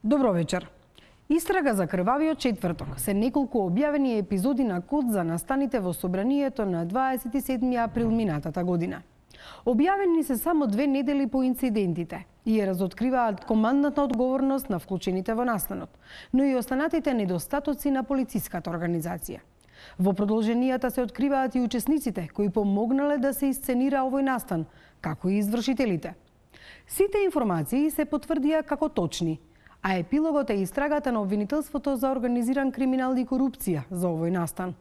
Добро вечер. Истрага за крвавиот четврток се неколку објавени епизоди на код за настаните во собранието на 27 април минатата година. Објавени се само 2 недели по инцидентите и ја разоткриваат командната одговорност на вклучените во настанот, но и останатите недостатоци на полициската организација. Во продолженијата се откриваат и учесниците кои помогнале да се исценира овој настан, како и извршителите. Сите информации се потврдија како точни, а епилогот е истрагата на обвинителството за организиран криминал и корупција за овој настан,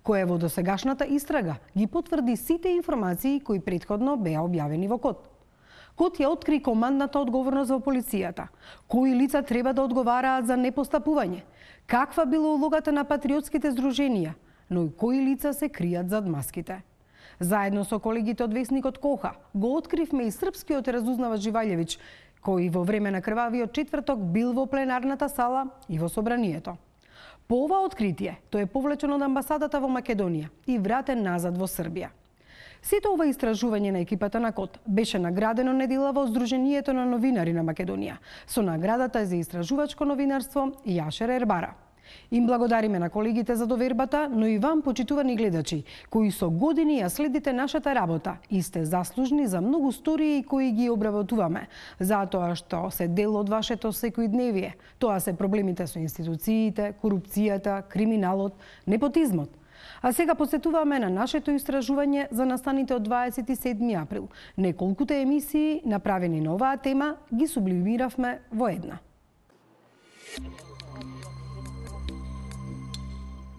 кој во досегашната истрага ги потврди сите информации кои претходно беа објавени во код. Код ја откри командната одговорност во полицијата, кои лица треба да одговараат за непостапување, каква била улогата на патриотските здруженија, но и кои лица се кријат зад маските. Заедно со колегите од весникот Коха го откривме и српскиот разузнавач Живаљевиќ, кој во време на крвавиот четврток бил во пленарната сала и во собранието. По ова откритие, тој е повлечен од амбасадата во Македонија и вратен назад во Србија. Сето ова истражување на екипата на КОД беше наградено недела во Сдруженијето на новинари на Македонија со наградата за истражувачко новинарство Јашер Ербара. Им благодариме на колегите за довербата, но и вам, почитувани гледачи, кои со години ја следите нашата работа и сте заслужни за многу стории кои ги обработуваме, затоа што се дел од вашето секојдневие. Тоа се проблемите со институциите, корупцијата, криминалот, непотизмот. А сега посетуваме на нашето истражување за настаните од 27 април. Неколкуте емисии направени на оваа тема ги сублимиравме во една.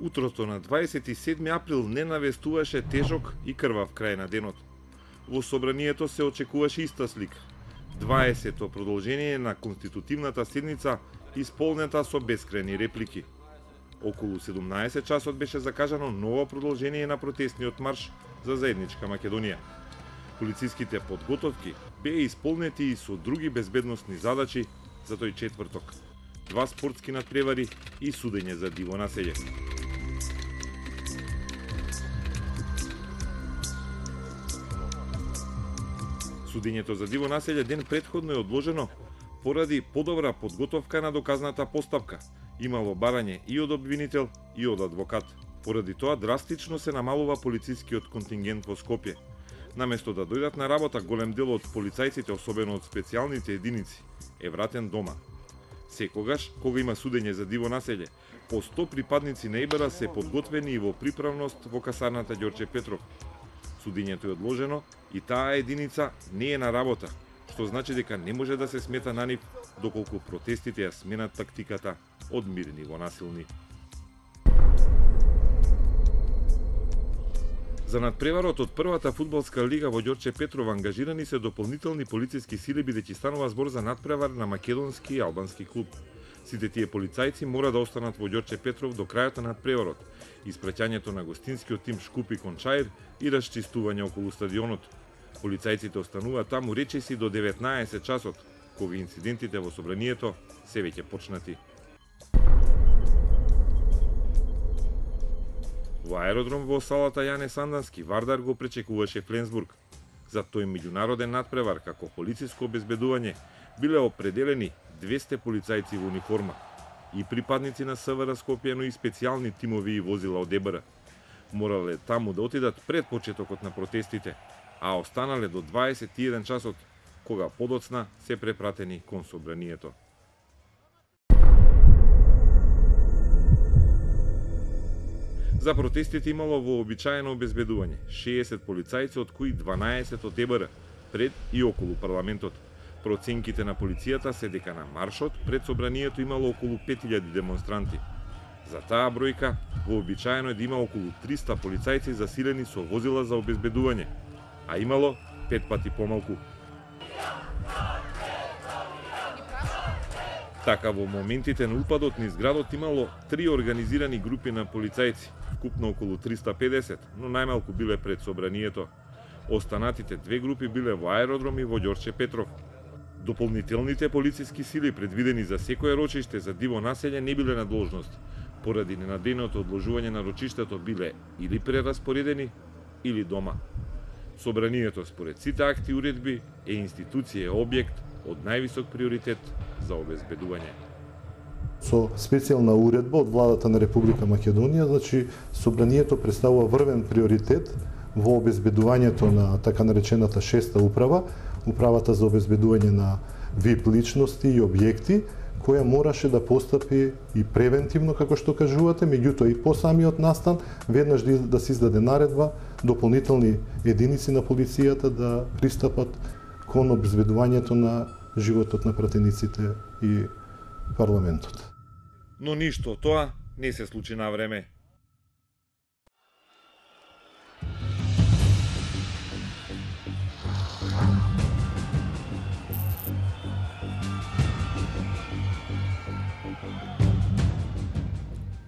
Утрото на 27 април не навестуваше тежок и крвав крај на денот. Во собранието се очекуваше иста слика. 20-то продолжение на конститутивната седница исполнета со бескрајни реплики. Околу 17 часот беше закажано ново продолжение на протестниот марш за заедничка Македонија. Полициските подготовки беа исполнети и со други безбедносни задачи за тој четврток. 2 спортски надпревари и судење за диво населје. Судењето за диво населје ден претходно е одложено поради подобра подготовка на доказната постапка. Имало барање и од обвинител и од адвокат. Поради тоа драстично се намалува полицискиот контингент во Скопје. Наместо да дојдат на работа, голем дел од полицајците, особено од специјалните единици, е вратен дома. Секогаш, кога има судење за диво населје, по 100 припадници на ИБР се подготвени и во приправност во касарната Ѓорче Петров. Судењето е одложено и таа единица не е на работа, што значи дека не може да се смета на нив доколку протестите ја сменат тактиката од мирни во насилни. За надпреварот од првата фудбалска лига во Ѓорче Петров ангажирани се дополнителни полициски сили, бидејќи станува збор за надпревар на македонски и албански клуб. Сите тие полицајци мора да останат во Ѓорче Петров до крајот на надпреварот, испраќањето на гостинскиот тим Шкупи Кончаир и расчистување околу стадионот. Полицајците остануваат таму речиси до 19 часот, кога инцидентите во собранието се веќе почнати. Во аеродром во салата Јане Сандански Вардар го пречекуваше Фленсбург. За тој меѓународен надпревар како полициско обезбедување биле определени 200 полицајци во униформа и припадници на СВР Скопје, но и специјални тимови и возила од ЕБР. Морале таму да отидат пред почетокот на протестите, а останале до 21 часот, кога подоцна се препратени кон собранието. За протестите имало вообичаено обезбедување, 60 полицајци, од кои 12 од ЕБР, пред и околу парламентот. Проценките на полицијата се дека на маршот пред собранието имало околу 5000 демонстранти. За таа бројка, вообичаено е да има околу 300 полицајци засилени со возила за обезбедување, а имало 5 пати помалку. Така во моментите на упадот низ градот имало 3 организирани групи на полицајци, вкупно околу 350, но најмалку биле пред собранието. Останатите 2 групи биле во аеродром и во Ѓорче Петров. Дополнителните полициски сили предвидени за секое рочиште за диво населје не биле на должност. Поради ненадејното одложување на рочиштето биле или прераспоредени, или дома. Собранието според сите акти и уредби е институција објект од највисок приоритет за обезбедување. Со специјална уредба од владата на Република Македонија, значи собранието представува врвен приоритет во обезбедувањето на така наречената шеста управа, управата за обезбедување на ВИП личности и објекти, која мораше да постапи и превентивно, како што кажувате, меѓутоа и по самиот настан, веднаш да се издаде наредба, дополнителни единици на полицијата да пристапат кон обезбедувањето на животот на пратениците и парламентот. Но ништо тоа не се случи на време.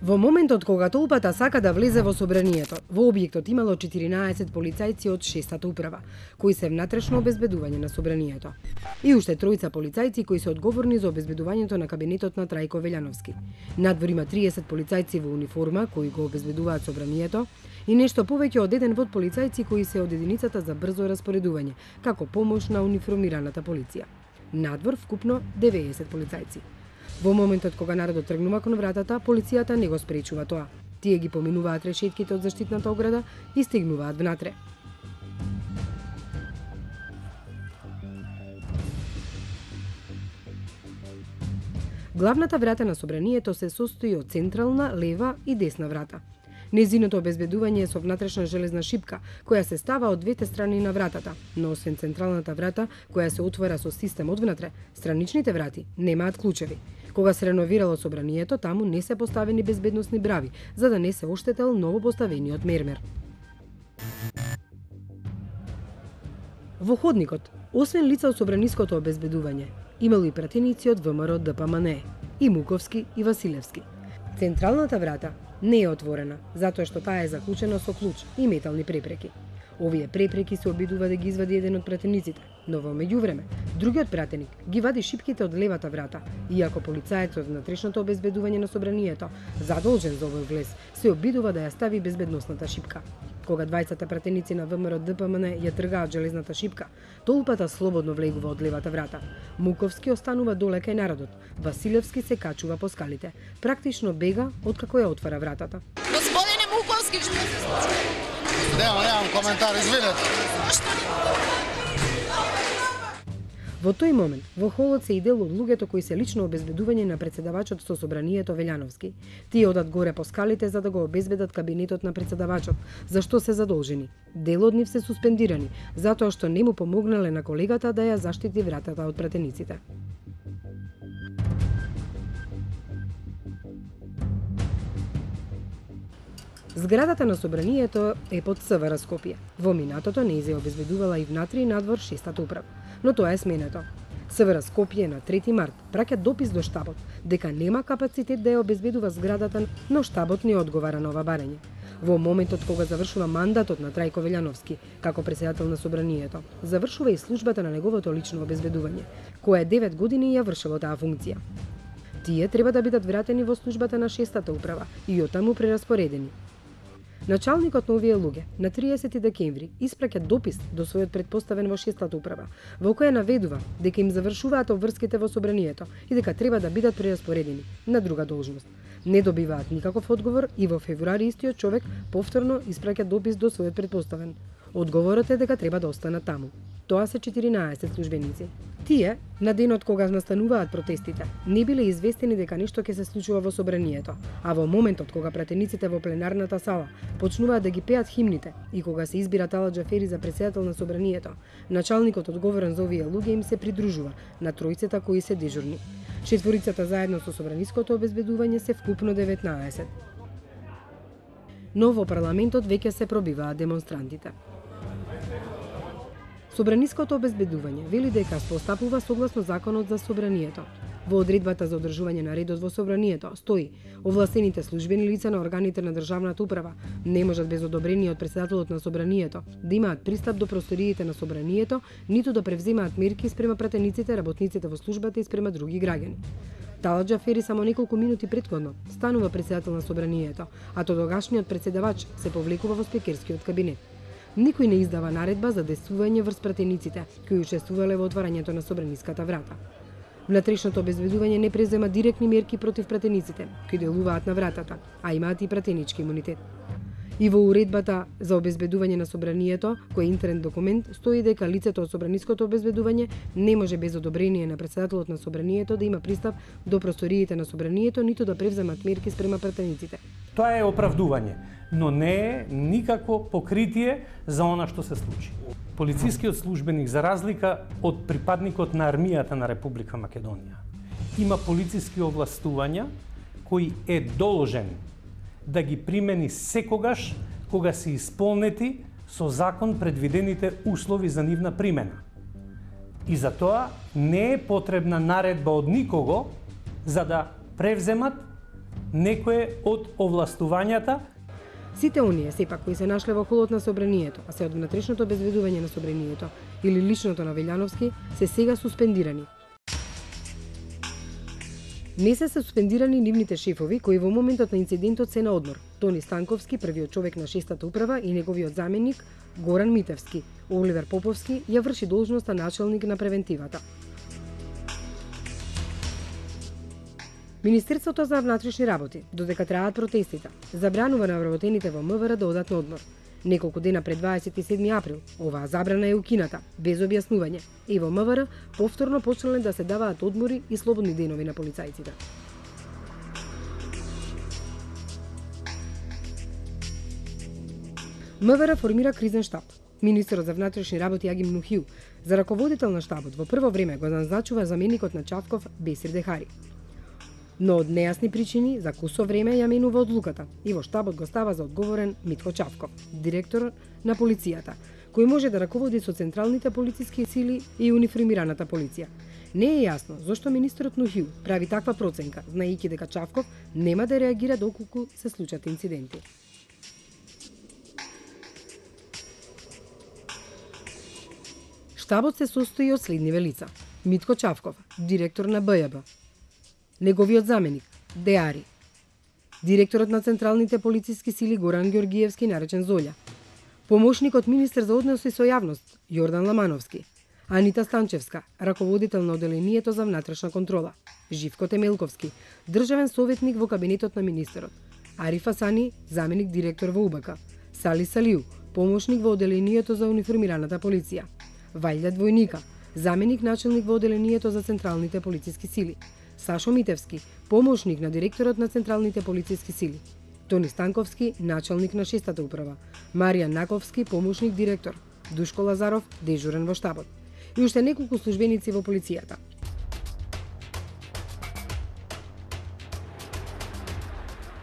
Во моментот кога толпата сака да влезе во собранието, во објектот имало 14 полицајци од 6-та управа, кои се внатрешно обезбедување на собранието. И уште тројца полицајци кои се одговорни за обезбедувањето на кабинетот на Трајко Велјановски. Надвор има 30 полицајци во униформа кои го обезбедуваат собранието и нешто повеќе од еден вод полицајци кои се од единицата за брзо распоредување, како помош на униформираната полиција. Надвор вкупно 90 полицајци. Во моментот кога народот тргнува кон вратата, полицијата не го спречува тоа. Тие ги поминуваат решетките од заштитната ограда и стигнуваат внатре. Главната врата на собранието се состои од централна, лева и десна врата. Незиното обезбедување е со внатрешна железна шипка, која се става од двете страни на вратата, но освен централната врата, која се отвора со систем одвнатре, страничните врати немаат клучеви. Кога се реновирало собранието, таму не се поставени безбедносни брави, за да не се оштетел новопоставениот мермер. Во ходникот, освен лица од собраниското обезбедување, имало и пратеници од ВМРО ДПМН, и Муковски и Василевски. Централната врата не е отворена, затоа што таа е заклучена со клуч и метални препреки. Овие препреки се обидува да ги извади еден од пратениците, но во меѓувреме, другиот пратеник ги вади шипките од левата врата, иако полицајецот од внатрешното обезбедување на собранието, задолжен за овој влез, се обидува да ја стави безбедносната шипка. Кога двајцата пратеници на ВМРО ДПМН ја тргаат железната шипка, толпата слободно влегува од левата врата. Муковски останува доле кај народот, Василевски се качува по скалите, практично бега откако ја отвара вратата. Господине Муковски, што се случи? Немам коментар, извинете. Во тој момент, во холот се и дел од луѓето кои се лично обезбедување на председавачот со собранието Велјановски. Тие одат горе по скалите за да го обезбедат кабинетот на председавачот, за што се задолжени. Дел од нив се суспендирани, затоа што не му помогнале на колегата да ја заштити вратата од пратениците. Зградата на собранието е под СВР Скопје. Во минатото не се обезбедувала и внатре и надвор шестата управа, но тоа е сменето. СВР Скопје на 3 март праќа допис до штабот дека нема капацитет да ја обезбедува зградата, но штабот не одговара на ова барање. Во моментот кога завршува мандатот на Трајко Велјановски како претседател на собранието, завршува и службата на неговото лично обезбедување, која 9 години ја вршело таа функција. Тие треба да бидат вратени во службата на шестата управа и оттаму прераспоредени. Началникот на овие луѓе на 30 декември испраќа допис до својот претпоставен во шестата управа, во која наведува дека им завршуваат обврските во собранието и дека треба да бидат прераспоредени на друга должност. Не добиваат никаков одговор и во февруари истиот човек повторно испраќа допис до својот претпоставен. Одговорот е дека треба да останат таму. Тоа се 14 службеници. Тие, на денот кога настануваат протестите, не биле известени дека нешто ќе се случува во собранието, а во моментот кога пратениците во пленарната сала почнуваат да ги пеат химните и кога се избира Талат Џафери за претседател на собранието, началникот одговорен за овие луѓе им се придружува на тројцата кои се дежурни. Четворицата заедно со собраниското обезбедување се вкупно 19. Но во парламентот веќе се пробиваат демонстрантите. Собраниското обезбедување вели дека постапува согласно законот за собранието. Во одредбата за одржување на редот во собранието стои: овластените службени лица на органите на државната управа не можат без одобрение од претседателот на собранието да имаат пристап до просториите на собранието, ниту да превземаат мерки спрема пратениците, работниците во службата и спрема други граѓани. Талат Џафери само неколку минути претходно станува претседател на собранието, а тогашниот претседавач се повлекува во спикерскиот кабинет. Никој не издава наредба за действување врз пратениците кои учествувале во отварањето на собраниската врата. Внатрешното обезбедување не презема директни мерки против пратениците кои делуваат на вратата, а имаат и пратенички имунитет. И во уредбата за обезбедување на собранието, кој е интерен документ, стои дека лицето од собраниското обезбедување не може без одобрение на претседателот на собранието да има пристап до просториите на собранието, ниту да превземат мерки спрема пратениците. Тоа е оправдување, но не е никакво покритие за она што се случи. Полицискиот службеник, за разлика од припадникот на армијата на Република Македонија, има полициски овластувања кои е должен да ги примени секогаш кога се исполнети со закон предвидените услови за нивна примена. И за тоа не е потребна наредба од никого за да превземат некое од овластувањата. Сите оние сепак кои се нашле во холот на собранието, а се од внатрешното обезбедување на собранието или личното на Велјановски, се сега суспендирани. Не се суспендирани нивните шефови кои во моментот на инцидентот се на одмор. Тони Станковски, првиот човек на 6-та управа, и неговиот заменик Горан Митевски. Оливер Поповски ја врши должноста началник на превентивата. Министерството за внатрешни работи, додека траат протестите, забранува на вработените во МВР да одат на одмор. Неколку дена пред 27 април, оваа забрана е укината, без објаснување, и во МВР повторно почнале да се даваат одмори и слободни денови на полицајците. МВР формира кризен штаб. Министерот за внатрешни работи Агим Нухил за раководител на штабот во прво време го назначува заменикот на Чавков Бесир Дехари. Но од нејасни причини за кусо време ја менува одлуката и во штабот го става за одговорен Митко Чавков, директор на полицијата, кој може да раководи со централните полициски сили и униформираната полиција. Не е јасно зошто министерот Нухил прави таква проценка, знаејќи дека Чавков нема да реагира доколку се случат инциденти. Штабот се состои од следниве лица: Митко Чавков, директор на БЈБ, неговиот заменик Деари, директорот на централните полициски сили Горан Ѓоргиевски, наречен Золја, помошникот министер за односи со јавност Јордан Ламановски, Анита Станчевска, раководител на оделението за внатрешна контрола, Живко Темелковски, државен советник во кабинетот на министерот, Ариф Асани, заменик директор во УБК, Сали Салиу, помошник во оделението за униформираната полиција, Вајле Двојника, заменик началник во оделението за централните полициски сили, Сашо Митевски, помошник на директорот на централните полициски сили, Тони Станковски, началник на 6-та управа, Маријан Наковски, помошник директор, Душко Лазаров, дежурен во штабот, и уште неколку службеници во полицијата.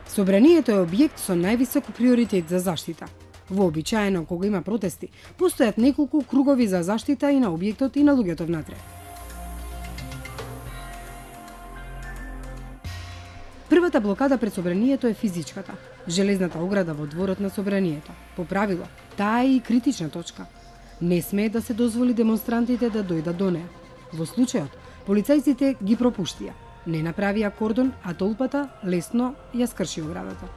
Собранието е објект со највисок приоритет за заштита. Вообичаено, кога има протести, постојат неколку кругови за заштита и на објектот и на луѓето внатре. Првата блокада пред собранието е физичката, железната ограда во дворот на собранието. По правило, таа е и критична точка. Не смее да се дозволи демонстрантите да дојдат до неа. Во случајот, полицајците ги пропуштија. Не направија кордон, а толпата лесно ја скрши оградата.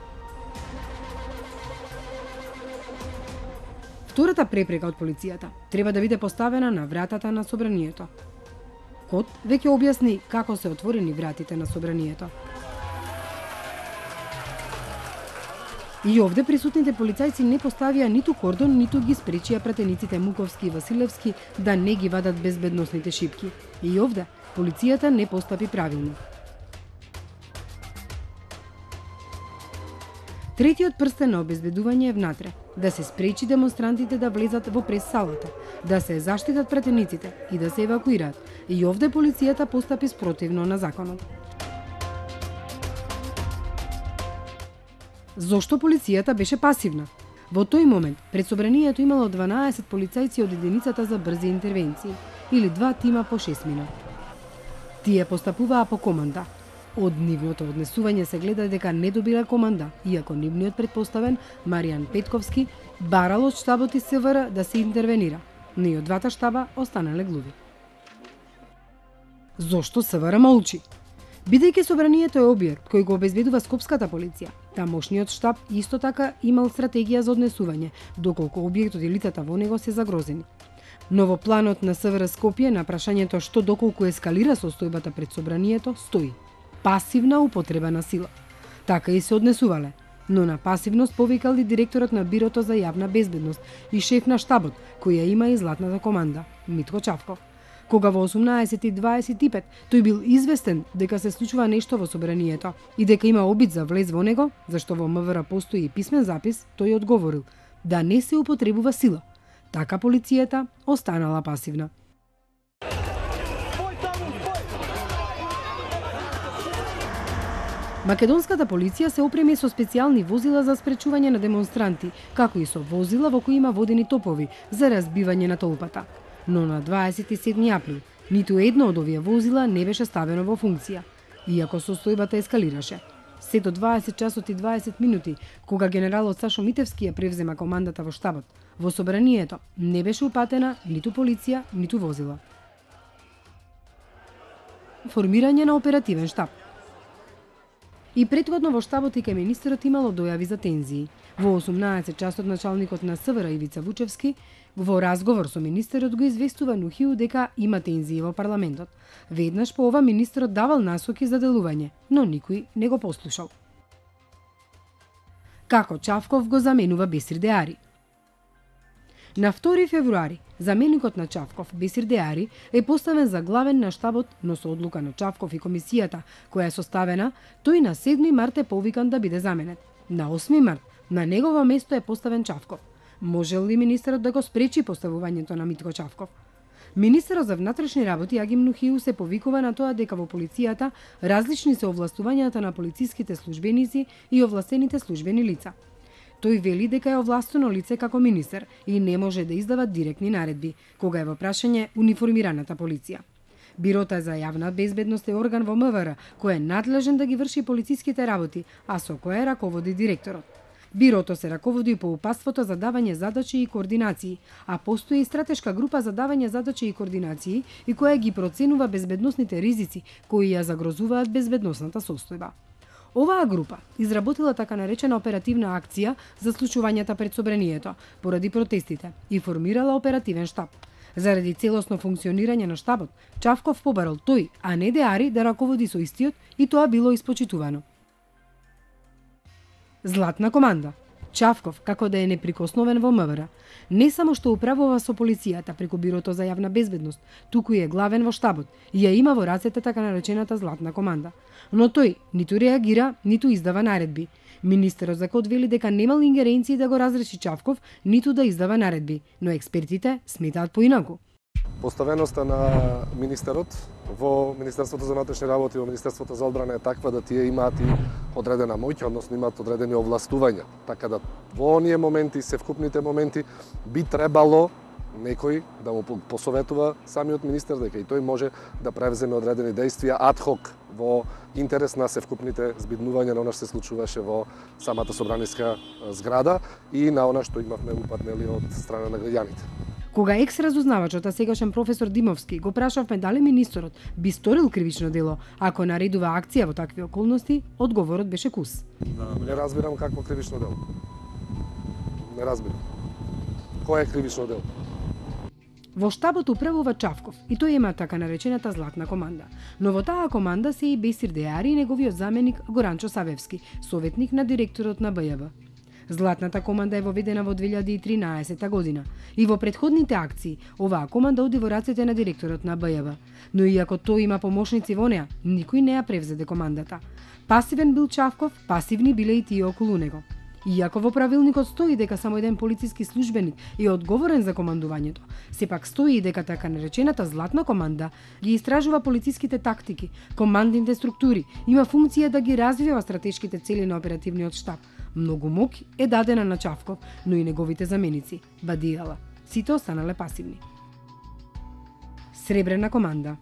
Втората препрека од полицијата треба да биде поставена на вратата на собранието. Код веќе објасни како се отворени вратите на собранието. И овде присутните полицајци не поставија ниту кордон, ниту ги спречија пратениците Муковски и Василевски да не ги вадат безбедносните шипки. И овде полицијата не постапи правилно. Третиот прстен на обезбедување е внатре, да се спречи демонстрантите да влезат во прес-салата, да се заштитат пратениците и да се евакуираат. И овде полицијата постапи спротивно на законот. Зошто полицијата беше пасивна? Во тој момент, пред собранието имало 12 полицајци од единицата за брзи интервенции, или 2 тима по 6 минути. Тие постапуваа по команда. Од нивното однесување се гледа дека не добила команда, иако нивниот предпоставен, Маријан Петковски, барал од штабот и СВР да се интервенира, но и од двата штаба останале глуви. Зошто СВР молчи? Бидејќи собранието е објект кој го обезбедува скопската полиција, тамошниот штаб исто така имал стратегија за однесување, доколку објектот и лицата во него се загрозени. Но во планот на СВР Скопје на прашањето што доколку ескалира состојбата пред собранието стои пасивна употреба на сила. Така и се однесувале, но на пасивност повикал и директорот на Бирото за јавна безбедност и шеф на штабот, кој ја има и златната команда, Митко Чавков. Кога во 18:25 тој бил известен дека се случува нешто во собранието и дека има обид за влез во него, зашто во МВР постои и писмен запис, тој одговорил да не се употребува сила. Така полицијата останала пасивна. Македонската полиција се опреми со специјални возила за спречување на демонстранти, како и со возила во кои има водени топови за разбивање на толпата. Но на 27 април ниту едно од овие возила не беше ставено во функција, иако состојбата ескалираше. Се до 20 часот и 20 минути, кога генералот Сашо Митевски ја превзема командата во штабот, во собранието не беше упатена ниту полиција, ниту возила. Формирање на оперативен штаб. И претходно во штабот и кај министерот имало дојави за тензии. Во 18 часот началникот на СВР Ивица Вучевски во разговор со министерот го известува Нухиу дека има тензии во парламентот. Веднаш по ова министерот давал насоки за делување, но никој не го послушал. Како Чавков го заменува Бесир Деари? На 2 февруари, заменикот на Чавков, Бесир Деари, е поставен за главен на штабот, но со одлука на Чавков и комисијата, која е составена, тој на 7 март е повикан да биде заменет. На 8 март, на негово место е поставен Чавков. Можел ли министерот да го спречи поставувањето на Митко Чавков? Министерот за внатрешни работи Агим Нухиу се повикува на тоа дека во полицијата различни се овластувањата на полициските службеници и овластените службени лица. Тој вели дека е овластено лице како министер и не може да издава директни наредби, кога е во прашање униформираната полиција. Бирото за јавна безбедност е орган во МВР кој е надлежен да ги врши полициските работи, а со кое раководи директорот. Бирото се раководи по упатството за давање задачи и координации, а постои и стратешка група за давање задачи и координации и која ги проценува безбедносните ризици кои ја загрозуваат безбедносната состојба. Оваа група изработила така наречена оперативна акција за случувањата пред собранието поради протестите и формирала оперативен штаб. Заради целосно функционирање на штабот, Чавков побарал тој, а не Деари да раководи со истиот и тоа било испочитувано. Златна команда. Чавков, како да е неприкосновен во МВР, не само што управува со полицијата преку Бирото за јавна безбедност, туку и е главен во штабот и ја има во рацете така наречената Златна команда. Но тој ниту реагира, ниту издава наредби. Министерот за код вели дека немал ингеренции да го разреши Чавков, ниту да издава наредби, но експертите сметаат поинаку. Поставеноста на министерот во Министерството за внатрешни работи и во Министерството за одбрана е таква да тие имаат и одредена моќ, односно имаат одредени овластувања. Така да во оние моменти, севкупните моменти, би требало некој да му посоветува самиот министер дека и тој може да превземе одредени действија адхок во интерес на севкупните збиднувања на она што се случуваше во самата собраниска зграда и на она што имавме упатнели од страна на граѓаните. Кога екс-разузнавачот, а сегашен професор Димовски, го прашавме дали министерот би сторил кривично дело ако наредува акција во такви околности, одговорот беше кус. Не разбирам какво кривично дело. Не разбирам. Кој е кривично дело? Во штабот управува Чавков и тој има така наречената Златна команда. Но во таа команда се и Бесир Деари и неговиот заменик Горанчо Савевски, советник на директорот на БЈБ. Златната команда е воведена во 2013 година и во претходните акции оваа команда оди во рацете на директорот на БЈВ. Но иако тој има помошници во неа, никој не ја превзеде командата. Пасивен бил Чавков, пасивни биле и тие околу него. Иако во правилникот стои дека само еден полициски службеник е одговорен за командувањето, сепак стои и дека така наречената златна команда ги истражува полициските тактики, командните структури, има функција да ги развива стратешките цели на оперативниот штаб. Многу мок е дадена на Чавков, но и неговите заменици, Бадијала. Сите останале пасивни. Сребрена команда.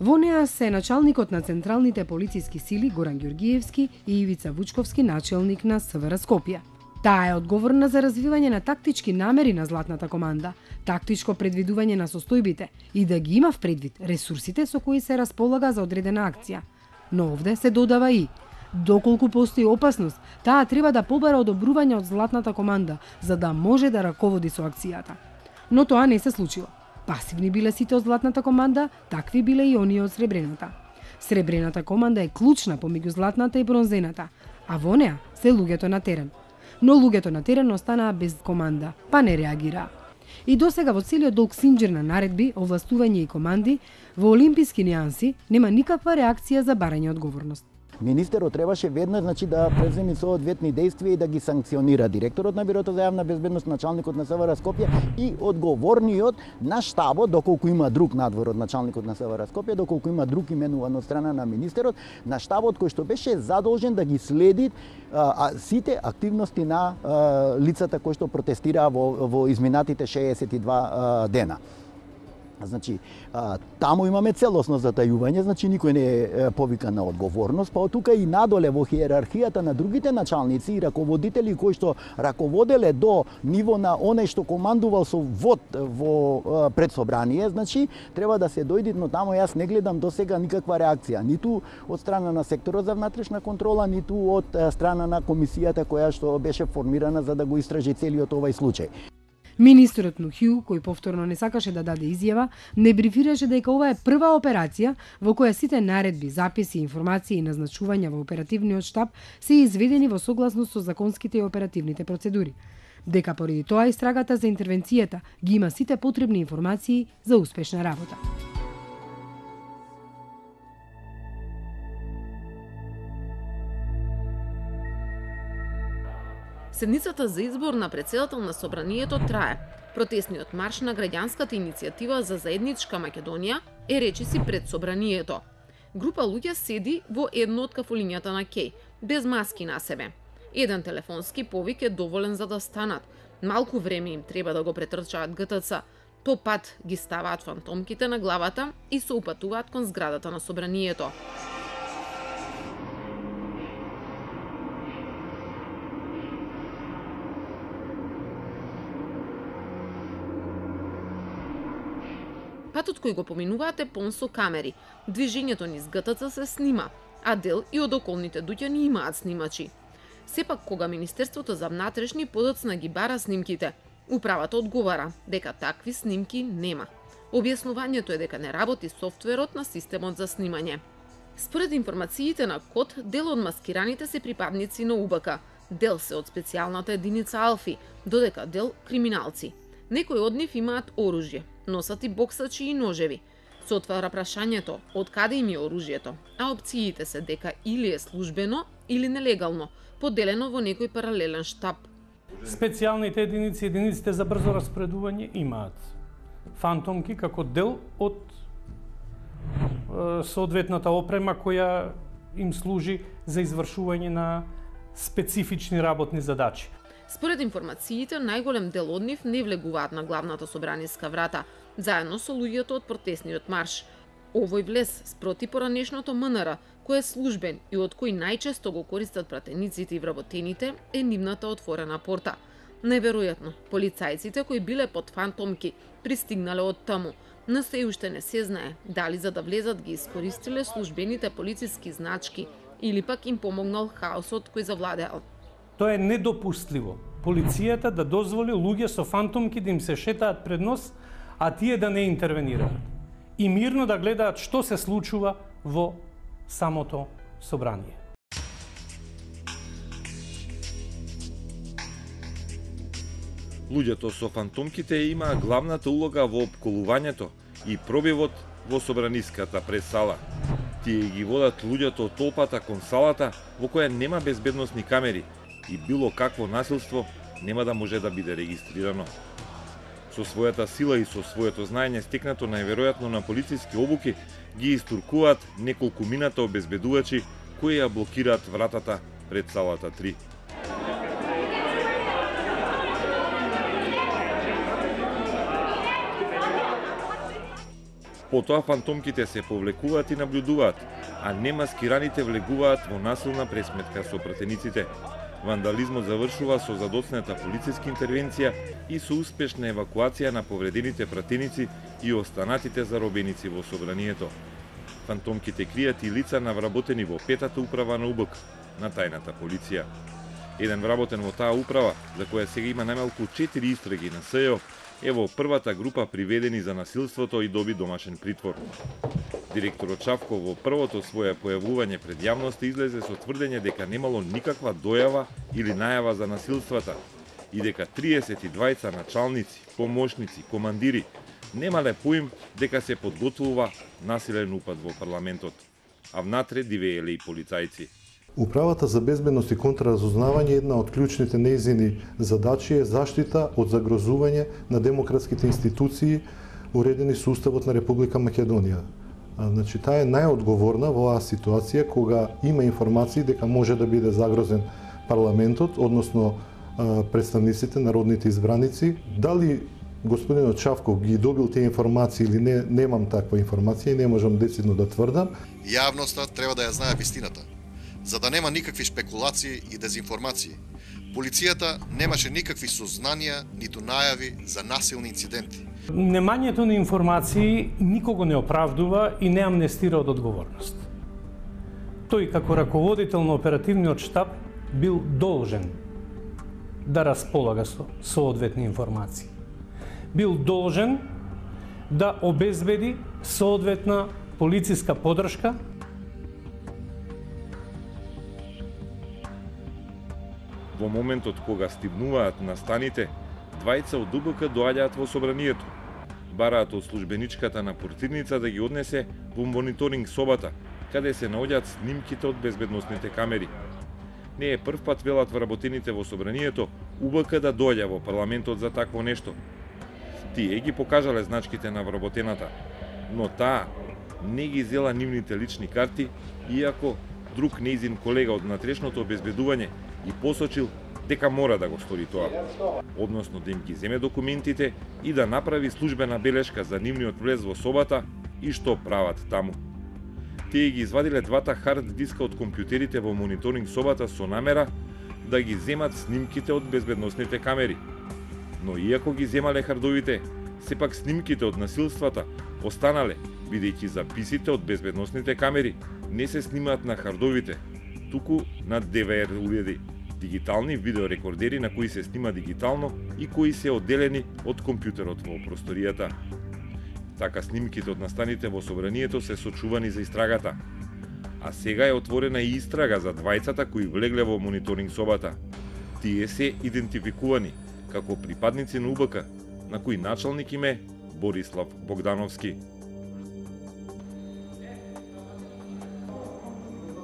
Во неа се началникот на централните полициски сили Горан Ѓоргиевски и Ивица Вучковски, начелник на СВР Скопје. Таа е одговорна за развивање на тактички намери на златната команда, тактичко предвидување на состојбите и да ги има в предвид ресурсите со кои се располага за одредена акција. Но овде се додава и доколку постои опасност, таа треба да побара одобрување од златната команда за да може да раководи со акцијата. Но тоа не се случило. Пасивни биле сите од златната команда, такви биле и оние од сребрената. Сребрената команда е клучна помеѓу златната и бронзената, а во неа се луѓето на терен. Но луѓето на терен останаа без команда, па не реагираа. И досега во целиот долг синџир на наредби, овластување и команди, во олимписки нијанси нема никаква реакција за барање одговорност. Министерот требаше веднаш да преземе соодветни действија и да ги санкционира директорот на Бирото за јавна безбедност, началникот на СВР Скопје и одговорниот на штабот, доколку има друг надвор од началникот на СВР Скопје, доколку има друг именуван од страна на министерот, на штабот кој што беше задолжен да ги следи сите активности на лицата кои што протестираа во изминатите 62 дена. Значи, таму имаме целосно затајување, значи никој не е повикан на одговорност, па од тука и надоле во хиерархијата на другите началници и раководители кои што раководеле до ниво на оној што командувал со вод во предсобрание, значи треба да се дојде, но таму јас не гледам досега никаква реакција, ниту од страна на секторот за внатрешна контрола, ниту од страна на комисијата која што беше формирана за да го истражи целиот овај случај. Министерот Нухиу, кој повторно не сакаше да даде изјава, не брифираше дека ова е прва операција во која сите наредби, записи, информации и назначувања во оперативниот штаб се изведени во согласност со законските и оперативните процедури. Дека поради тоа истрагата за интервенцијата ги има сите потребни информации за успешна работа. Седницата за избор на претседател на собранието трае. Протестниот марш на граѓанската иницијатива за заедничка Македонија е речиси пред собранието. Група луѓе седи во едно од кафулињата на Кеј, без маски на себе. Еден телефонски повик е доволен за да станат. Малку време им треба да го претрчаат ГТЦ. По пат ги ставаат фантомките на главата и се упатуваат кон зградата на собранието. Патот кој го поминуваат е полн со камери. Движењето низ ГТЦ се снима, а дел и од околните дуќани имаат снимачи. Сепак, кога Министерството за внатрешни подоцна ги бара снимките, управата одговара дека такви снимки нема. Објаснувањето е дека не работи софтверот на системот за снимање. Според информациите на КОД, дел од маскираните се припадници на УБК, дел се од специјалната единица Алфи, додека дел криминалци. Некои од нив имаат оружје, носат и боксачи и ножеви. Се отвара прашањето од каде им е оружјето, а опциите се дека или е службено или нелегално, поделено во некој паралелен штаб. Специјалните единици, единиците за брзо распоредување имаат фантомки како дел од соодветната опрема која им служи за извршување на специфични работни задачи. Според информациите, најголем дел од нив не влегуваат на главната собраниска врата, заедно со луѓето од протестниот марш. Овој влез спроти поранешното МНР, кој е службен и од кој најчесто го користат пратениците и вработените, е нивната отворена порта. Неверојатно, полицајците кои биле под фантомки пристигнале од таму, но се уште не се знае дали за да влезат ги искористиле службените полициски значки или пак им помогнал хаосот кој завладеал. Тоа е недопустливо. Полицијата да дозволи луѓе со фантомки да им се шетаат пред нос, а тие да не интервенираат. И мирно да гледаат што се случува во самото собрание. Луѓето со фантомките имаа главната улога во опколувањето и пробивот во собраниската пресала. Тие ги водат луѓето од толпата кон салата во која нема безбедносни камери и било какво насилство нема да може да биде регистрирано. Со својата сила и со своето знаење стекнато најверојатно на полициски обуки ги истуркуваат неколку мината обезбедувачи кои ја блокираат вратата пред салата 3. Потоа фантомките се повлекуваат и наблюдуваат, а немаскираните влегуваат во насилна пресметка со пратениците. Вандализмот завршува со задоцната полициска интервенција и со успешна евакуација на повредените пратеници и останатите заробеници во собранието. Фантомките кријат и лица навработени во петата управа на УБК, на тајната полиција. Еден вработен во таа управа, за која сега има најмалку 4 истраги на СЈО, е во првата група приведени за насилството и доби домашен притвор. Директорот Чавков во првото свое појавување пред јавноста излезе со тврдење дека немало никаква дојава или најава за насилствата и дека 32 началници, помошници, командири немале поим дека се подготвува насилен упад во парламентот, а внатре дивееле и полицајци. Управата за безбедност и контраразузнавање, една од клучните нејзини задачи е заштита од загрозување на демократските институции уредени со Уставот на Република Македонија. Значи, таа е најодговорна во оваа ситуација кога има информации дека може да биде загрозен парламентот, односно представниците, народните избраници. Дали господинот Чавков ги добил тие информации или не, немам таква информација и не можам децидно да тврдам. Јавноста треба да ја знае вистината, за да нема никакви спекулации и дезинформации. Полицијата немаше никакви сознанија, ниту најави за насилни инциденти. Немањето на информации никого не оправдува и не амнестира од одговорност. Тој како раководител на оперативниот штаб бил должен да располага со соодветни информации. Бил должен да обезбеди соодветна полициска поддршка. Во моментот кога стигнуваат на станите, двајца од УБК доаѓаат во собранието. Бараат од службеничката на портирница да ги однесе во мониторинг собата, каде се наоѓаат снимките од безбедносните камери. Не е прв пат, велат вработените во собранието, УБК да доаѓа во парламентот за такво нешто. Тие ги покажале значките на вработената, но таа не ги зела нивните лични карти, иако друг нејзин колега од натрешното обезбедување и посочил дека мора да го стори тоа, односно да им ги земе документите и да направи службена белешка за нивниот влез во собата и што прават таму. Тие ги извадиле двата хард диска од компјутерите во мониторинг собата со намера да ги земат снимките од безбедносните камери. Но иако ги земале хардовите, сепак снимките од насилствата останале, бидејќи записите од безбедносните камери не се снимаат на хардовите, туку на ДВР уреди, дигитални видеорекордери на кои се снима дигитално и кои се одделени од компјутерот во просторијата. Така снимките од настаните во собранието се сочувани за истрагата. А сега е отворена и истрага за двајцата кои влегле во мониторинг собата. Тие се идентификувани како припадници на УБК, на кои началник им е Борислав Богдановски.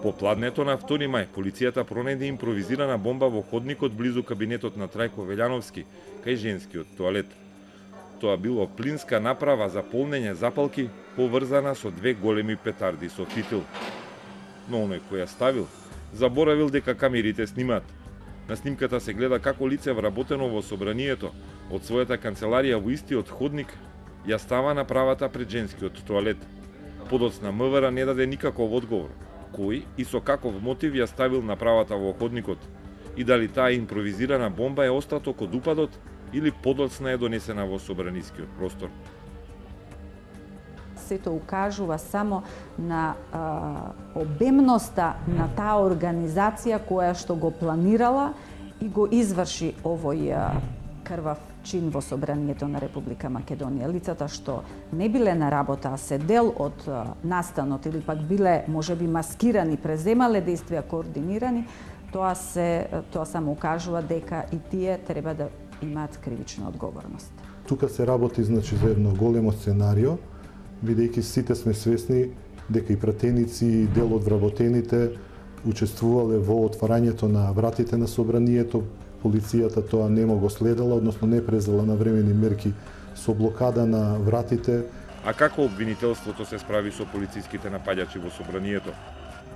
По пладнето на 2 мај, полицијата пронајде импровизирана бомба во ходникот близу кабинетот на Трајко Велјановски, кај женскиот тоалет. Тоа било плинска направа за полнење запалки, поврзана со 2 големи петарди со фитил. Но оној кој ја ставил, заборавил дека камерите снимаат. На снимката се гледа како лице вработено во собранието од својата канцеларија во истиот ходник ја става направата пред женскиот тоалет. Подоцна МВР не даде никаков одговор кој и со каков мотив ја ставил направата во ходникот и дали таа импровизирана бомба е остаток од упадот или подоцна е донесена во собранискиот простор. Сето укажува само на обемноста на таа организација која што го планирала и го изврши овој крвав чин во собранието на Република Македонија. Лицата што не биле на работа, а се дел од настанот или пак биле можеби маскирани, преземале действија координирани, тоа само укажува дека и тие треба да имаат кривична одговорност. Тука се работи значи за едно големо сценарио, бидејќи сите сме свесни дека и пратеници и дел од вработените учествувале во отварањето на вратите на собранието. Полицијата тоа нема го следела, односно не презела навремени мерки со блокада на вратите. А како обвинителството се справи со полициските напаѓачи во собранието?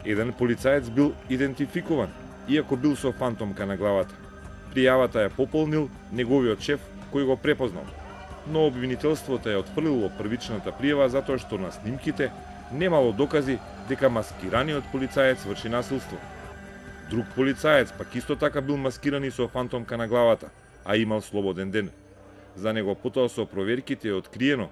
Еден полицаец бил идентификуван, иако бил со фантомка на главата. Пријавата ја пополнил неговиот шеф, кој го препознал. Но обвинителството ја отфрлило првичната пријава затоа што на снимките немало докази дека маскираниот полицаец врши насилство. Друг полицаец пак исто така бил маскиран и со фантомка на главата, а имал слободен ден. За него потоа со проверките е откриено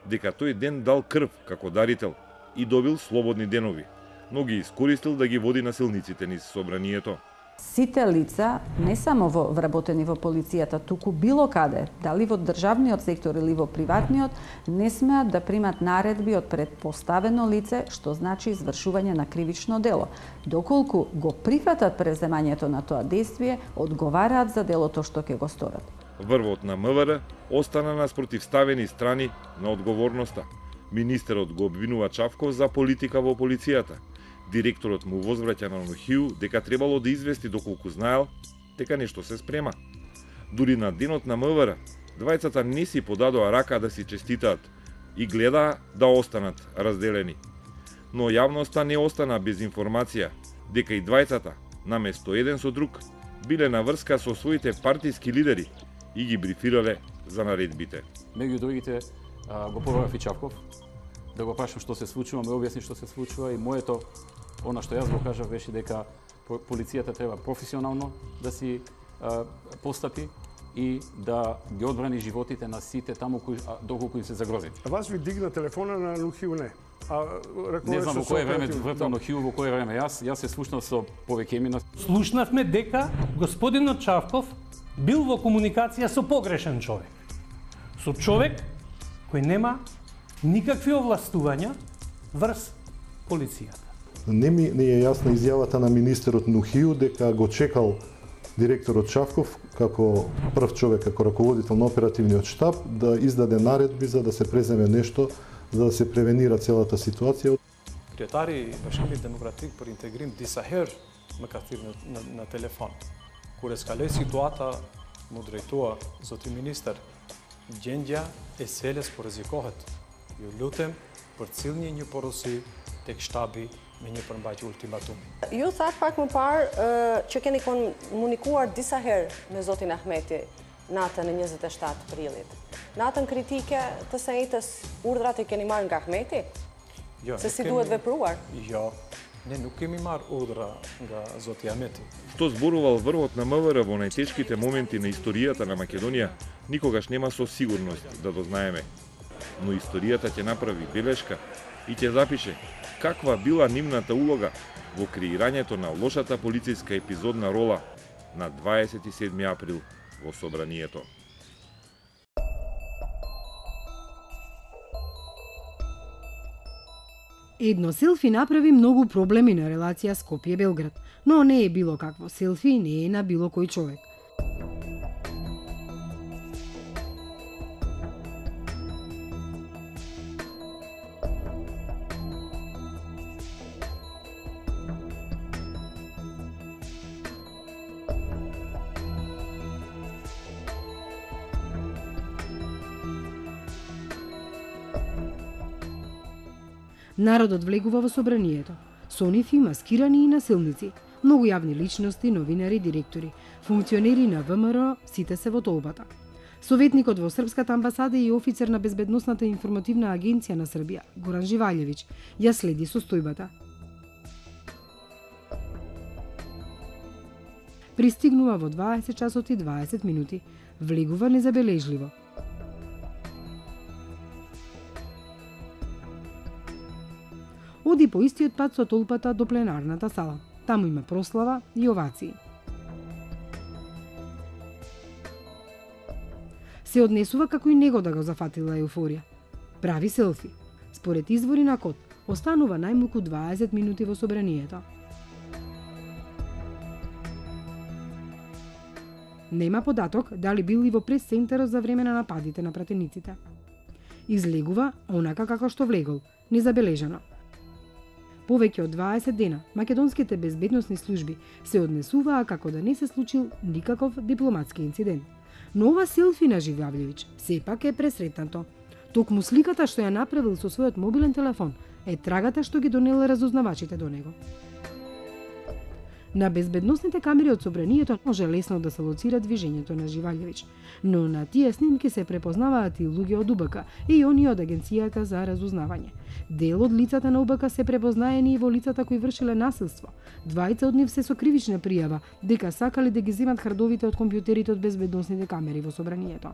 дека тој ден дал крв како дарител и добил слободни денови, но ги искористил да ги води насилниците низ собранието. Сите лица, не само вработени во полицијата, туку било каде, дали во државниот сектор или во приватниот, не смеат да примат наредби од предпоставено лице, што значи извршување на кривично дело. Доколку го прифатат преземањето на тоа действие, одговараат за делото што ќе го сторат. Врвот на МВР остана на спротивставени страни на одговорноста. Министерот го обвинува Чавков за политика во полицијата. Директорот му возвраќа на Нухију дека требало да извести доколку знаел дека нешто се спрема. Дури на денот на МВР, двајцата не си подадоа рака да си честитаат и гледаа да останат разделени. Но јавноста не остана без информација дека и двајцата, наместо еден со друг, биле на врска со своите партиски лидери и ги брифирале за наредбите. Меѓу другите го побарав и Чавков, да го прашам што се случува, ме објасни што се случува и моето, она што јас го кажав беше дека полицијата треба професионално да си постапи и да ги одбрани животите на сите таму доколку им се загрози. Вас ви дигна телефона на Нухију не? Не знам во кое време вртал Нухију, во кое време јас се слушнав со повеќе имена. Слушнавме дека господинот Чавков бил во комуникација со погрешен човек. Со човек кој нема никакви овластувања врз полицијата. Не е јасна изјавата на министерот Нухију дека го чекал директорот Чавков како прв човек, како раководител на оперативниот штаб да издаде наредби за да се преземе нешто, за да се превенира целата ситуација. Kryetari i Bashkimit Demokratik për Integrim disa herë më ka thirrë në telefon. Kur eskaloi situata, mu drejtua zoti minister, gjendja e seles po rrezikohet. Ju lutem përcillni një porosi tek shtabi me një përmbajtje ultimatumi. Ju thatë pak më parë që keni komunikuar disa herë me zotin Ahmeti natën e 27 prillit. Natën kritike të sejtës, urdhrat i keni marrë nga Ahmeti? Jo, se si duhet vepruar? Jo, ne nuk kemi marrë urdhra nga zoti Ahmeti. Што зборувал врвот на МВР во најтешките моменти на историјата на Македонија, никогаш нема со сигурност да дознаеме. Но историјата ќе направи белешка и ќе запише каква била нивната улога во креирањето на лошата полициска епизодна рола на 27 април во собранието. Едно селфи направи многу проблеми на релација Скопје-Белград, но не е било какво селфи, не е на било кој човек. Народот влегува во собранието. Со нив и маскирани и насилници, многу јавни личности, новинари, директори, функционери на ВМРО, сите се во толпата. Советникот во Српската амбасада и офицер на Безбедносната информативна агенција на Србија, Горан Живаљевиќ, ја следи состојбата. Пристигнува во 20 часот и 20 минути. Влегува незабележливо. Оди по истиот пат со толпата до пленарната сала. Таму има прослава и овации. Се однесува како и него да го зафатила еуфорија. Прави селфи. Според извори на Код, останува најмалку 20 минути во собранието. Нема податок дали бил и во прес-центарот за време на нападите на пратениците. Излегува онака како што влегол, незабележано. Повеќе од 20 дена македонските безбедносни служби се однесуваа како да не се случил никаков дипломатски инцидент. Но ова селфи на Живјављевиќ сепак е пресретнато. Токму сликата што ја направил со својот мобилен телефон е трагата што ги донеле разузнавачите до него. На безбедносните камери од собранието може лесно да се лоцира движењето на Живјављевиќ, но на тие снимки се препознаваат и луѓе од УБК и оние од Агенцијата за разузнавање. Дел од лицата на УБК се препознаени и во лицата кои вршеле насилство. Двајца од нив се со кривична пријава дека сакале да ги земат хардовите од компјутерите од безбедносните камери во собранието.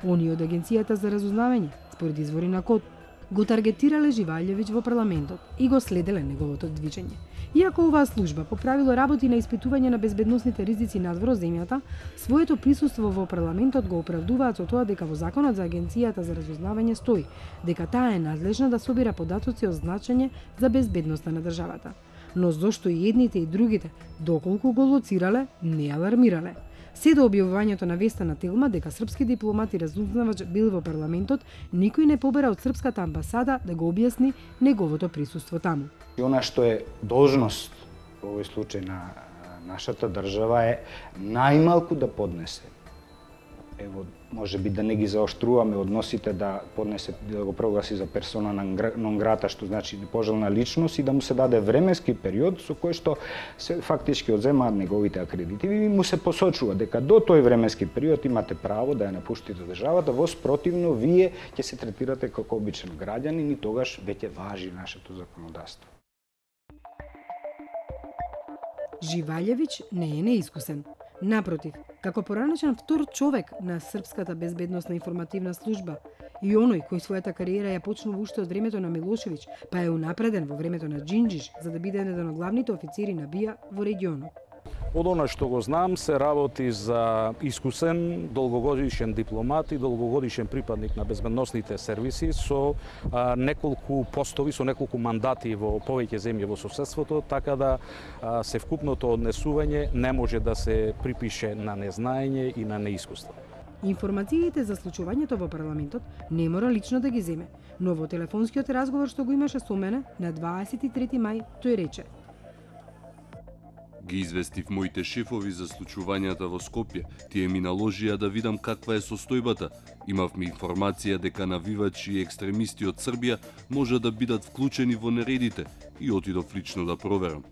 Оние од Агенцијата за разузнавање, според извори на КОД, го таргетирале Живјављевиќ во парламентот и го следеле неговото движење. Иако оваа служба по правило работи на испитување на безбедносните ризици надвор земјата, своето присуство во парламентот го оправдуваат со тоа дека во Законот за Агенцијата за разузнавање стои дека таа е надлежна да собира податоци од значење за безбедноста на државата. Но зошто и едните и другите, доколку го лоцирале, не алармирале? Се до објавувањето на веста на Телма дека српски дипломат и разузнавач бил во парламентот, никој не побера од српската амбасада да го објасни неговото присуство таму. И она што е должност во овој случај на нашата држава е најмалку да поднесе. Ево, може би да не ги заоштруваме односите, да поднесе, да го прогласи за персона нон грата, што значи непожелна личност, и да му се даде временски период со кој што се фактички одземаат неговите акредитиви и му се посочува дека до тој временски период имате право да ја напуштите државата, во спротивно вие ќе се третирате како обичен граѓанин и тогаш веќе важи нашето законодавство. Живјављевиќ не е неискусен. Напротив, како поранешен втор човек на Српската безбедносна информативна служба и оној кој својата кариера ја почнува уште од времето на Милошевиќ, па е унапреден во времето на Џинџиш за да биде еден од главните официри на БИА во регионот. Од она што го знам, се работи за искусен, долгогодишен дипломат и долгогодишен припадник на безбедносните сервиси со неколку постови, со неколку мандати во повеќе земји во соседството, така да севкупното однесување не може да се припише на незнаење и на неискуство. Информациите за случувањето во парламентот не мора лично да ги земе, но во телефонскиот разговор што го имаше со мене на 23 мај, тој рече: Ги известив моите шефови за случувањата во Скопје. Тие ми наложија да видам каква е состојбата. Имавме информација дека навивачи и екстремисти од Србија може да бидат вклучени во нередите и отидов лично да проверам.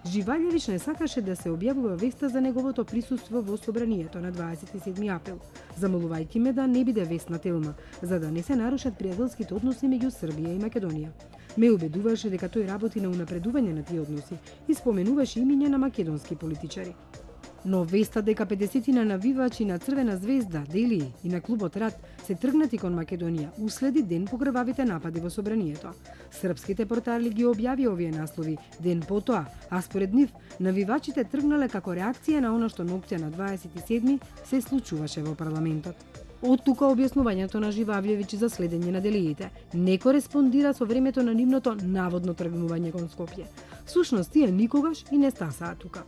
Живјављевиќ не сакаше да се објавува веста за неговото присуство во собранието на 27 април, замолувајќи ме да не биде вест на Телма, за да не се нарушат пријателските односи меѓу Србија и Македонија. Ме убедуваше дека тој работи на унапредување на тие односи и споменуваше имиња на македонски политичари. Но веста дека 50 навивачи на Црвена звезда, Делии и на клубот Рад се тргнати кон Македонија уследи ден по крвавите напади во собранието. Српските портали ги објави овие наслови ден потоа, а според нив навивачите тргнале како реакција на она што ноќта на 27 се случуваше во парламентот. Од тука објаснувањето на Живјављевиќ за следење на делиите не кореспондира со времето на нивното наводно тргнување кон Скопје. Всушност тие никогаш и не стасаа тука.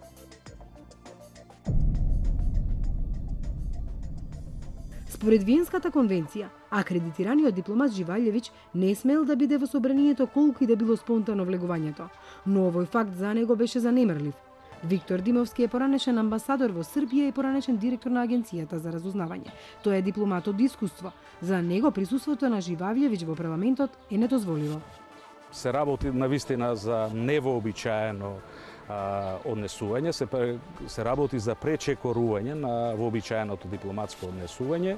Според Виенската конвенција, акредитираниот дипломат Живјављевиќ не смел да биде во собранието колку и да било спонтано влегувањето, но овој факт за него беше занемрлив. Виктор Димовски е поранешен амбасадор во Србија и поранешен директор на Агенцијата за разузнавање. Тој е дипломат од искуство. За него присуството на Живјављевиќ во парламентот е недозволиво. Се работи навистина за невообичаено однесување, се работи за пречекорување на вообичаеното дипломатско однесување.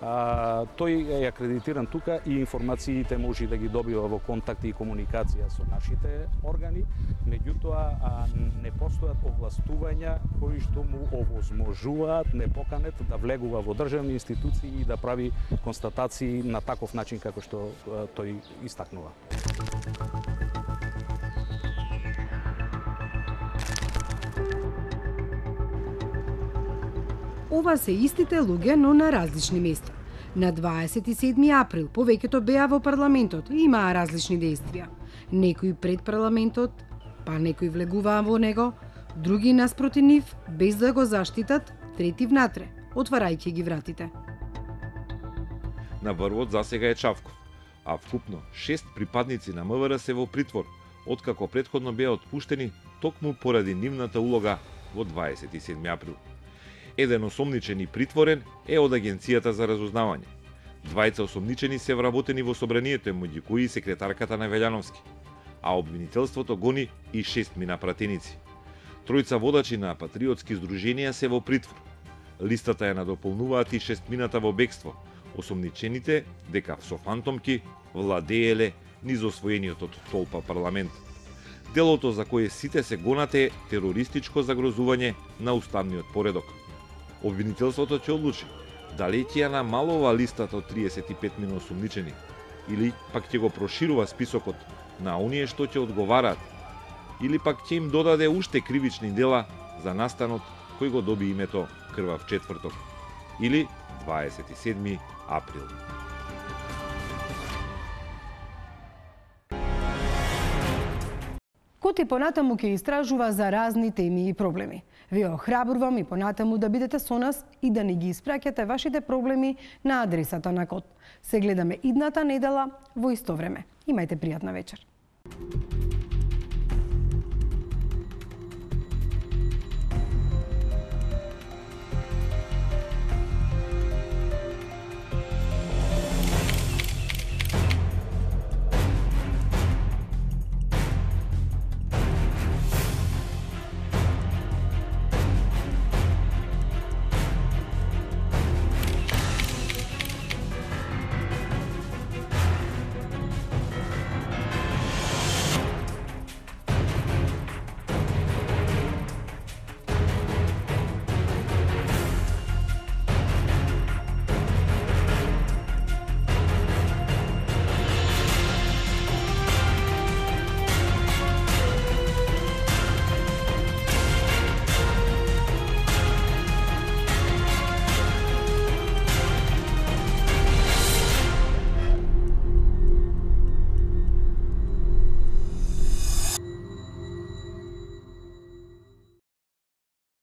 Тој е акредитиран тука и информациите може да ги добива во контакти и комуникација со нашите органи, меѓутоа не постојат овластувања кои што му овозможуваат непоканет да влегува во државни институции и да прави констатации на таков начин како што тој истакнува. Ова се истите луѓе, но на различни места. На 27 април повеќето беа во парламентот и имаа различни действија. Некои пред парламентот, па некои влегуваа во него, други наспроти нив, без да го заштитат, трети внатре, отварајќи ги вратите. На врвот засега е Чавков, а вкупно 6 припадници на МВР се во притвор, откако претходно беа отпуштени токму поради нивната улога во 27 април. Еден осомничен и притворен е од Агенцијата за разузнавање. Двајца осомничени се вработени во собранието, меѓу кои и секретарката на Велјановски, а обвинителството гони и 6 минапратеници. Тројца водачи на патриотски здруженија се во притвор. Листата ја надополнуваат и 6 мината во бегство, осомничените дека со фантомки владееле низ освоениот од толпа парламент. Делото за кое сите се гонат е терористичко загрозување на уставниот поредок. Обвинителството ќе одлучи дали ќе ја намалува листата од 35 мина осомничени или пак ќе го проширува списокот на оние што ќе одговараат или пак ќе им додаде уште кривични дела за настанот кој го доби името Крвав четврток или 27 април. Коти понатаму ќе истражува за разни теми и проблеми. Ви охрабрувам и понатаму да бидете со нас и да ни ги испраќате вашите проблеми на адресата на Кот. Се гледаме идната недела во исто време. Имајте пријатна вечер.